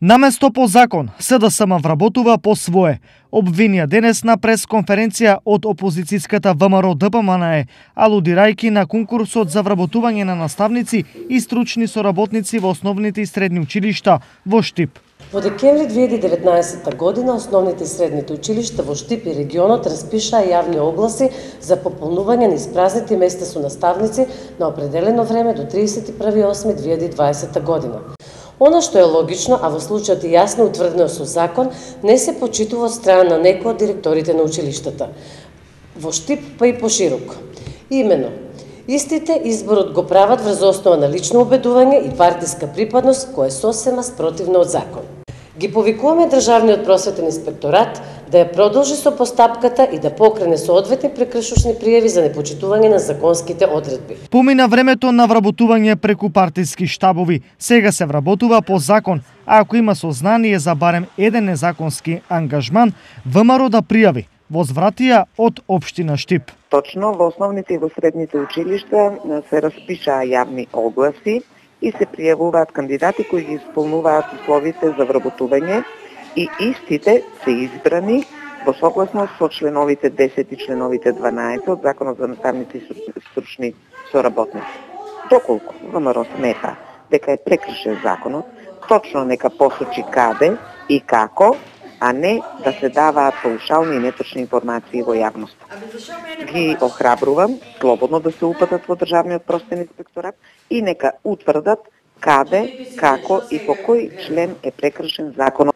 Наместо по закон, СДСМ вработува по свое. Обвинија денес на пресконференција од опозицијската ВМРО ДПМНЕ, алудирајќи на конкурсот за вработување на наставници и стручни соработници во основните и средни училишта во Штип. Во декември 2019 година основните и средните училишта во Штип и регионот распишаа јавни огласи за пополнување на испразните места со наставници на определено време до 31.8.2020 година. Она што е логично, а во случајот и јасно утврдено со закон, не се почитува од страна на некој од директорите на училиштата. Во Штип, па и пошироко. Имено, истите изборот го прават врз основа на лично убедување и партиска припадност, која е сосема спротивна од закон. Ги повикуваме Државниот просветен инспекторат да ја продолжи со постапката и да покрене соодветни прекршочни пријави за непочитување на законските одредби. Помина времето на вработување преку партиски штабови, сега се вработува по закон, а ако има сознание за барем еден незаконски ангажман, ВМРО да пријави, возвратија од општина Штип. Точно во основните и во средните училишта се распишаа јавни огласи и се пријавуваат кандидати кои ги исполнуваат условите за вработување и истите се избрани во согласност со членовите 10 и членовите 12 од Законот за наставници и стручни соработници. Доколку ВМРО смета дека е прекршен законот, точно нека посочи каде и како, а не да се даваат паушални и неточни информации во јавноста. Ги охрабрувам слободно да се упатат во Државниот просветен инспекторат и нека утврдат каде, како и по кој член е прекршен законот.